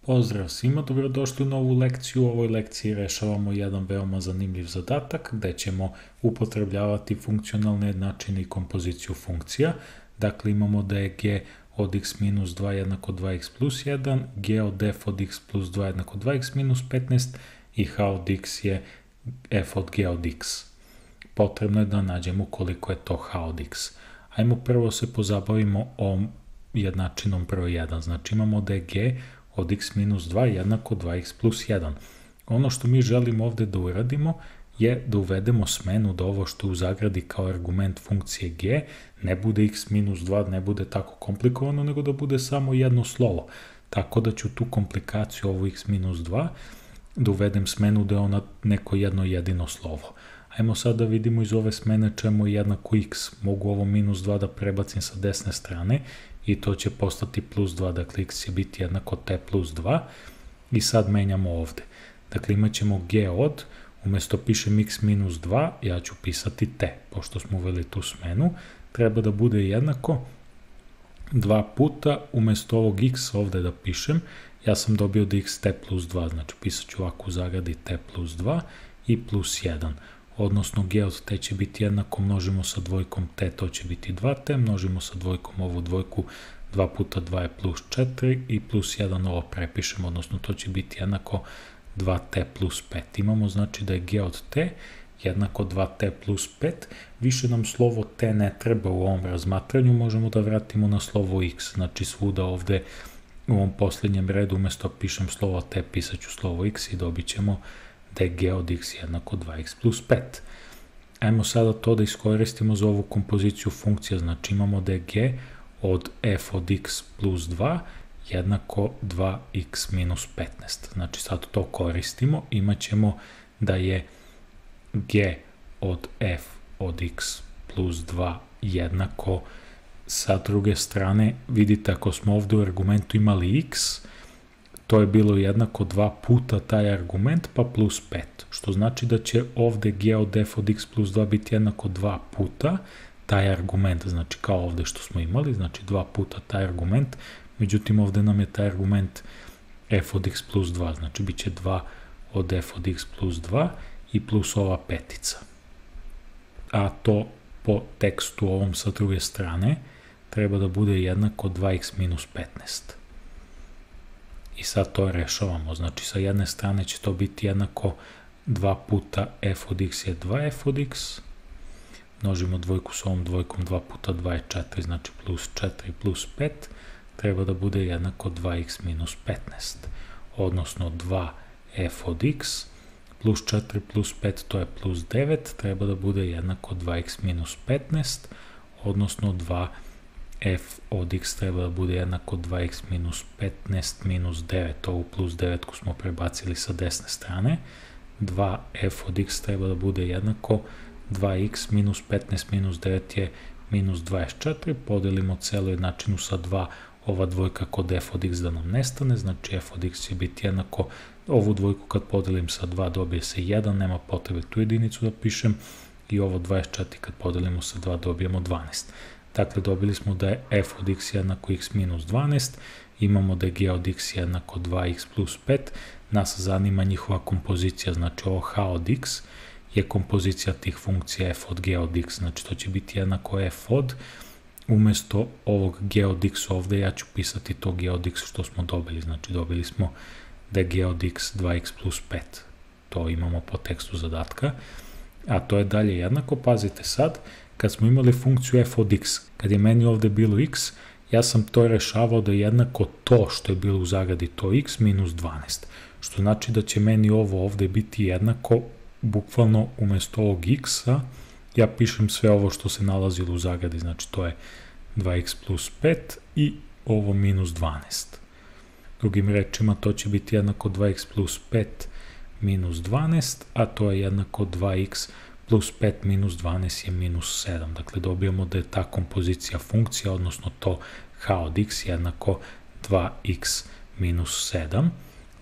Pozdrav svima, dobrodošli u novu lekciju. U ovoj lekciji rešavamo jedan veoma zanimljiv zadatak gde ćemo upotrebljavati funkcionalne jednačine i kompoziciju funkcija. Dakle, imamo da je g od x minus 2 jednako 2x plus 1, g od f od x plus 2 jednako 2x minus 15 i h od x je f od g od x. Potrebno je da nađemo koliko je to h od x. Ajmo prvo se pozabavimo ovom jednačinom broj 1. Znači imamo da je g od x minus 2 jednako 2x plus 1. Ono što mi želimo ovde da uradimo je da uvedemo smenu da ovo što je u zagradi kao argument funkcije g ne bude x minus 2, ne bude tako komplikovano, nego da bude samo jedno slovo. Tako da ću tu komplikaciju ovo x minus 2 da uvedem smenu da je ona neko jedno jedino slovo. Ajmo sad da vidimo iz ove smene čemu je jednako x. Mogu ovo minus 2 da prebacim sa desne strane i to će postati plus 2, dakle x će biti jednako t plus 2 i sad menjamo ovde. Dakle imat ćemo g od, umesto pišem x minus 2, ja ću pisati t, pošto smo uveli tu smenu, treba da bude jednako 2 puta, umesto ovog x ovde da pišem, ja sam dobio da x t plus 2, znači pisat ću ovako u zagradi t plus 2 i plus 1. Odnosno g od t će biti jednako, množimo sa dvojkom t, to će biti 2t, množimo sa dvojkom ovu dvojku, 2 puta 2 je plus 4 i plus 1 ovo prepišemo, odnosno to će biti jednako 2t plus 5. Imamo znači da je g od t jednako 2t plus 5, više nam slovo t ne treba u ovom razmatranju, možemo da vratimo na slovo x, znači svuda ovde u ovom posljednjem redu umesto pišem slovo t, pisat ću slovo x i dobit ćemo da je g od x jednako 2x plus 5. Ajmo sada to da iskoristimo za ovu kompoziciju funkcija, znači imamo da je g od f od x plus 2 jednako 2x minus 15. Znači sad to koristimo, imat ćemo da je g od f od x plus 2 jednako, sa druge strane, vidite ako smo ovde u argumentu imali x, to je bilo jednako 2 puta taj argument pa plus 5, što znači da će ovde g od f od x plus 2 biti jednako 2 puta taj argument, znači kao ovde što smo imali, znači 2 puta taj argument, međutim ovde nam je taj argument f od x plus 2, znači bit će 2 od f od x plus 2 i plus ova petica. A to po tekstu ovom sa druge strane treba da bude jednako 2x minus 15. I sad to rešavamo, znači sa jedne strane će to biti jednako 2 puta f od x je 2f od x, množimo dvojku s ovom dvojkom, 2 puta 2 je 4, znači plus 4 plus 5, treba da bude jednako 2x minus 15, odnosno 2f od x plus 4 plus 5, to je plus 9, treba da bude jednako 2x minus 15, odnosno 2 f od x treba da bude jednako 2x minus 15 minus 9, ovu plus 9 ko smo prebacili sa desne strane, 2f od x treba da bude jednako 2x minus 15 minus 9 je minus 24, podelimo celu jednačinu sa 2, ova dvojka kod f od x da nam nestane, znači f od x će biti jednako, ovu dvojku kad podelim sa 2 dobije se 1, nema potrebe tu jedinicu da pišem, i ovo 24 kad podelimo sa 2 dobijemo 12. Dakle, dobili smo da je f od x jednako x minus 12, imamo da je g od x jednako 2x plus 5, nas zanima njihova kompozicija, znači ovo h od x je kompozicija tih funkcija f od g od x, znači to će biti jednako f od, umesto ovog g od x ovde ja ću pisati to g od x što smo dobili, znači dobili smo da je g od x 2x plus 5, to imamo po tekstu zadatka, a to je dalje jednako, pazite sad, kad smo imali funkciju f od x, kad je meni ovde bilo x, ja sam to rešavao da je jednako to što je bilo u zagradi, to x minus 12, što znači da će meni ovo ovde biti jednako, bukvalno umesto ovog x-a, ja pišem sve ovo što se nalazilo u zagradi, znači to je 2x plus 5 i ovo minus 12. Drugim rečima, to će biti jednako 2x plus 5 minus 12, a to je jednako 2x plus 5 minus 12 je minus 7. Dakle, dobijamo da je ta kompozicija funkcija, odnosno to h od x jednako 2x minus 7.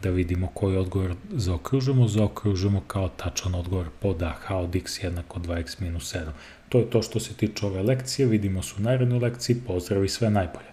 Da vidimo koji odgovor zaokružujemo kao tačan odgovor pod a, h od x jednako 2x minus 7. To je to što se tiče ove lekcije, vidimo se u narednoj lekciji, pozdrav i sve najbolje.